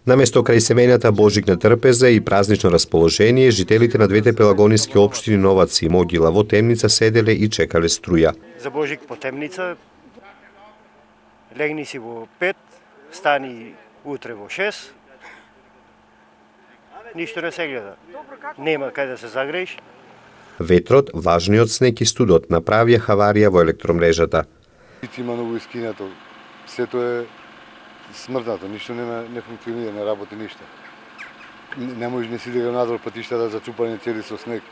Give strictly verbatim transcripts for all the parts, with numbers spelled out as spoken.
Наместо крај семејната божигна трпеза и празнично расположение, жителите на двете пелагониски општини Новац и Могила во темница седеле и чекале струја. За Божик по темница, легни си во пет, стани утре во шест, ништо не се гледа. Нема кај да се загрееш. Ветрот, важниот снег и студот направија хаварија во електромрежата. Има многу искинато, сето е смртнато, ништо не, не функционира, не работи ништо. Не, не може не си да надвор патиштата зацупани цели со снег.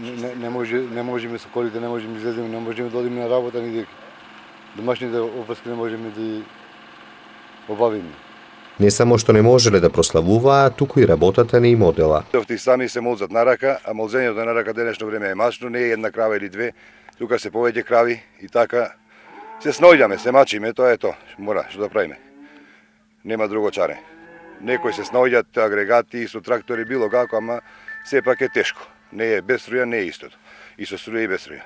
Не, не, може, не можеме со колите, не можеме излеземе, не можеме да одиме на работа, ни дека домашните опаски не можеме да обавиме. Не само што не можеле да прославуваа, туку и работата не им одела. Ти сами се молзат на рака, а молзењето на рака денешно време е мачно, не е една крава или две, тука се повеќе крави и така се снојдаме, се мачиме, тоа е тоа, мора, што да правиме. Нема друго чаре. Некои се снојдат агрегати со трактори било како, ама сепак е тешко. Не е без струја, не е истото. И со струја и без струја.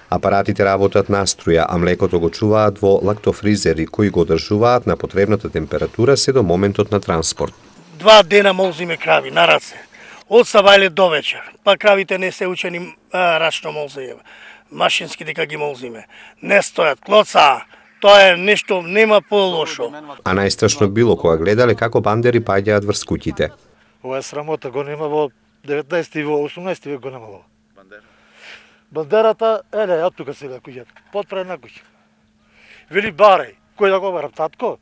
Апаратите работат на струја, а млекото го чуваат во лактофризери кои го одржуваат на потребната температура се до моментот на транспорт. Два дена молзиме крави на раце. Од сабајле до вечер. Па кравите не се учени а, рачно молзење. Машински дека ги молзиме. Не стојат, клоца. Тоа е нешто, нема по-лошо. А најстрашно било кога гледале како бандери паѓаат врз куќите. Ова е срамота, го нема во деветнаесети и во осумнаесети век го нема во. Бандерата, еле, ја тука се куќата, подпред на куќа. Вели барај, кој да го барам, татко?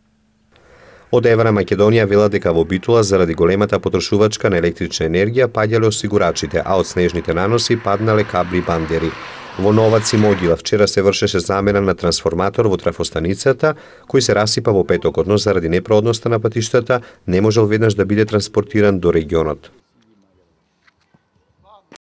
Од Евра Македонија велат дека во Битула заради големата потрошувачка на електрична енергија паѓале осигурачите, а од снежните наноси паднале кабли и бандери. Во Новац и Могила вчера се вршеше замена на трансформатор во трафостаницата, кој се расипа во петокот, но заради непроодноста на патиштата не можел веднаш да биде транспортиран до регионот.